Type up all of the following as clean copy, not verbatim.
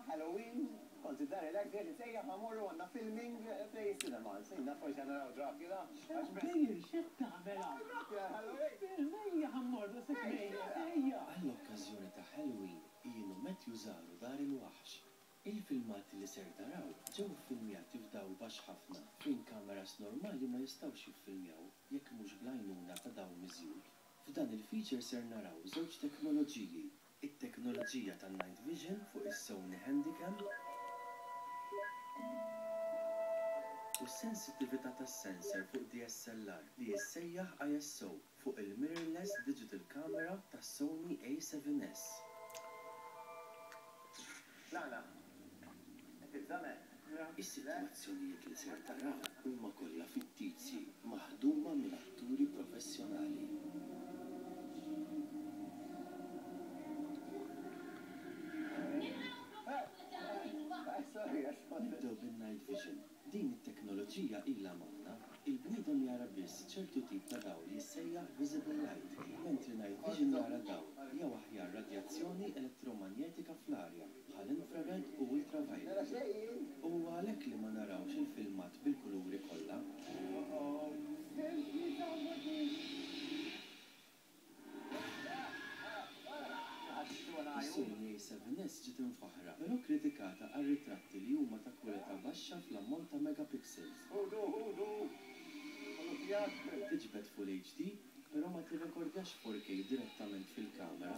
Halloween, kont id-dar relax, gadgets ejja ħa mmorru għandna filming Play Cinema. Nsejna forsi ħa naraw Dracula. X'għaddej, x'qed tagħmel hawn? Dracula Halloween! Film, ejja ħa mmorru, sitt ejja, ejja! Għall-okkażjoni ta' Halloween, Ian u Matthew żaru Dar il-Waħx. Il-filmati li ser taraw ġew iffilmjati f'dawl baxx ħafna fejn kameras normali ma jistgħux jiffilmjaw jekk mhux bl-għajnuna ta' dawl miżjud. F'dan il-feature ser naraw żewġ teknoloġiji, it-teknoloġija tan-night vision fuq is-Sony Handycam u s-sensittività tas-sensor fuq DSLR li jissejjaħ ISO fuq il-mirrorless digital camera tas-Sony A7S. Lana, qed tibża' me? Is-sitwazzjonijiet li ser taraw huma kollha fittizji maħduma minn atturi professjonali. Nibdew bin-night vision. Din it-teknoloġija ilha magħna. Il-bniedem jara biss ċertu tip ta' dawl jissejjaħ visible light, mentri night vision jara dawl, jew aħjar radjazzjoni elettromanjetika fl-arja, bħal infrared u ultraviolet. U huwa għalhekk li ma narawx il-filmat bil-kuluri kollha. Is-Sony A7S ġiet imfaħħra, però kkritikata għar-ritratti li huma ta' kwalità baxxa fl-ammont ta' megapixels. Tiġbed Full HD, però ma tirrekordjax 4K direttament fil-kamera.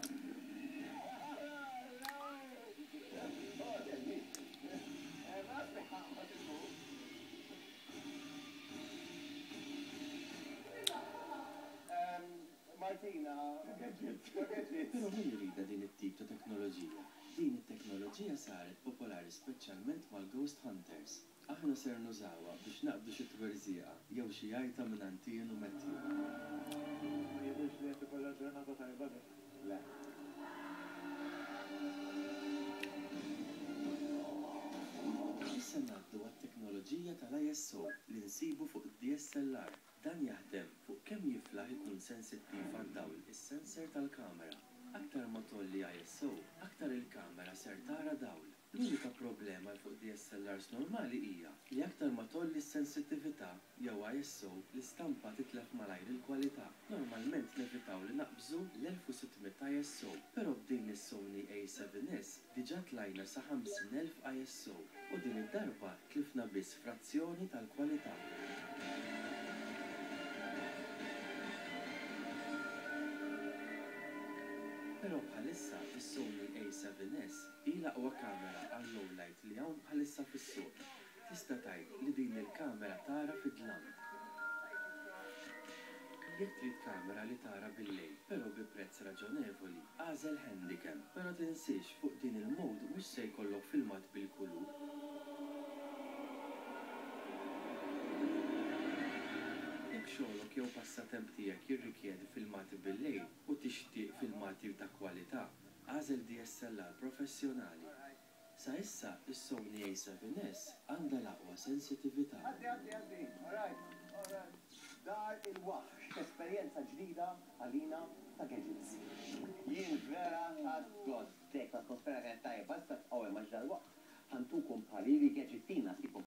Però min iridha din it-tip ta' teknoloġija? Din it-teknoloġija saret popolari speċjalment mal-ghost hunters. Aħna ser nużawha biex naqbdu xi twerżieqa jew xi għajta mingħand Ian u Matthew. Ma jidhirx li qed ikollha ġurnata tajba din. Le. Issa ngħaddu għat-teknoloġija tal-ISO li nsibu fuq id-DSLR. Dan jaħdem fuq kemm jiflaħ ikun sensittiv għad-dawl is-sensor tal-kamera. Aktar ma tgħolli ISO, aktar il-kamera ser tara dawl. L-unika problema fuq DSLRs normali hija li aktar ma tgħolli s-sensittività jew ISO, l-istampa titlef malajr il-kwalità. Normalment nevitaw li naqbżu l-1600 ISO, però b'din is-Sony A7S diġà tlajna sa 50,000 ISO u din id-darba tlifna biss frazzjoni tal-kwalità. Però bħalissa is-Sony A7S hi l-aqwa kamera għal low light li hawn bħalissa fis-suq. Tista' tgħid li din il-kamera tara fid-dlam. Jekk trid kamera li tara bil-lejl però bi prezz raġonevoli, agħżel Handycam. Però tinsiex fuq din il-mode mhux se jkollok filmat bil-kulur. Jekk xogħlok jew passatemp tiegħek jirrikjedi filmati bil-lejl u tixtieq filmati ta' kwalità, agħżel DSLR professjonali. Sa issa, is-Sony A7S għandha l-aqwa sensitività. Għaddi, għaddi, għaddi. All right, all right. Dar il-Waħx, esperjenza ġdida għalina ta' gadgets. Jien vera ħadt gost. Dik l-atmosfera kienet tajba, issa tqgħu hemm għax dalwaqt ħa ntukom pariri gadgettina tipo.